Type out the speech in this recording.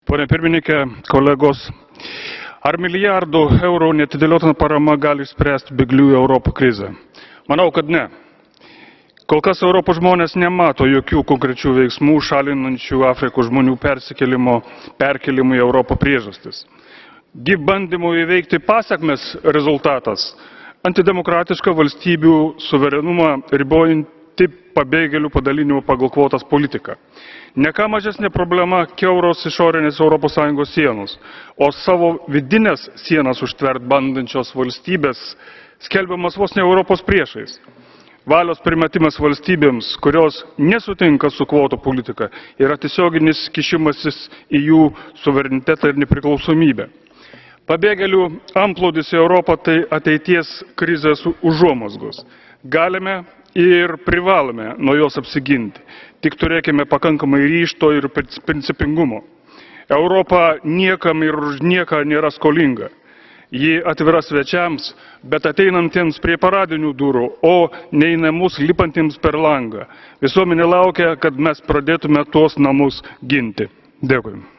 Pone pirmininkė, kolegos, ar milijardų eurų neatidėliotina parama gali išspręsti bėglių į Europą krizę? Manau, kad ne. Kol kas Europos žmonės nemato jokių konkrečių veiksmų šalinančių Afrikos žmonių perkelimų į Europą priežastis. Bandymų įveikti pasekmes rezultatas – antidemokratiška valstybių suverenumą ribojanti pabėgėlių padalinimo pagal kvotas politika. Ne ką mažesnė problema kiauros išorinės ES sienos, o savo vidinės sienas užtvert bandančios valstybės skelbiamas vos ne Europos priešais. Valios primetimas valstybėms, kurios nesutinka su kvotų politika, yra tiesioginis kišimasis į jų suverenitetą ir nepriklausomybę. Pabėgėlių antplūdis į Europą tai ateities krizės užuomazgos. Galime ir privalome nuo jos apsiginti. Tik turėkime pakankamai ryžto ir principingumo. Europa niekam ir už nieką nėra skolinga. Ji atvira svečiams, bet ateinantiems prie paradinių durų, o ne į namus lipantiems per langą. Visuomenė laukia, kad mes pradėtume tuos namus ginti. Dėkui.